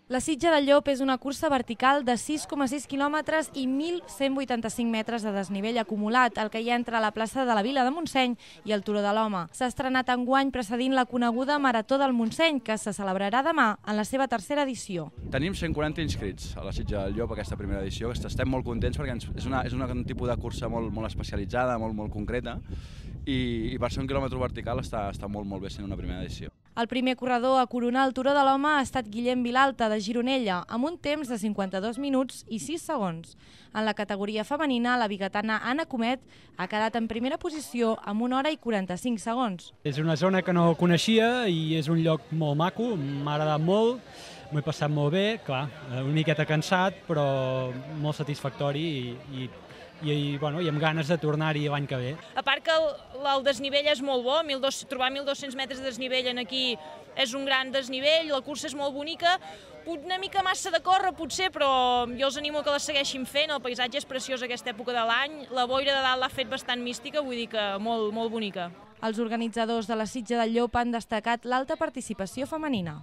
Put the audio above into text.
La Sitja del Llop és una cursa vertical de 6,6 quilòmetres i 1.185 metres de desnivell acumulat, el que hi ha entre la plaça de la Vila de Montseny i el Turó de l'Home. S'ha estrenat enguany precedint la coneguda Marató del Montseny, que se celebrarà demà en la seva tercera edició. Tenim 140 inscrits a la Sitja del Llop, aquesta primera edició, que estem molt contents perquè és un tipus de cursa molt especialitzada, molt concreta, i per ser un quilòmetre vertical està molt bé sent una primera edició. El primer corredor a coronar el Turó de l'Home ha estat Guillem Vilalta, de Gironella, amb un temps de 52 minuts i 6 segons. En la categoria femenina, la biguetana Anna Comet ha quedat en primera posició amb 1 hora i 45 segons. És una zona que no coneixia i és un lloc molt maco, m'ha agradat molt, m'ho he passat molt bé, clar, una miqueta cansat, però molt satisfactori i amb ganes de tornar-hi l'any que ve. A part que el desnivell és molt bo, trobar 1.200 metres de desnivell aquí és un gran desnivell, la cursa és molt bonica, una mica massa de córrer potser, però jo els animo que la segueixin fent, el paisatge és preciós aquesta època de l'any, la boira de dalt l'ha fet bastant mística, vull dir que molt bonica. Els organitzadors de la Sitja del Llop han destacat l'alta participació femenina.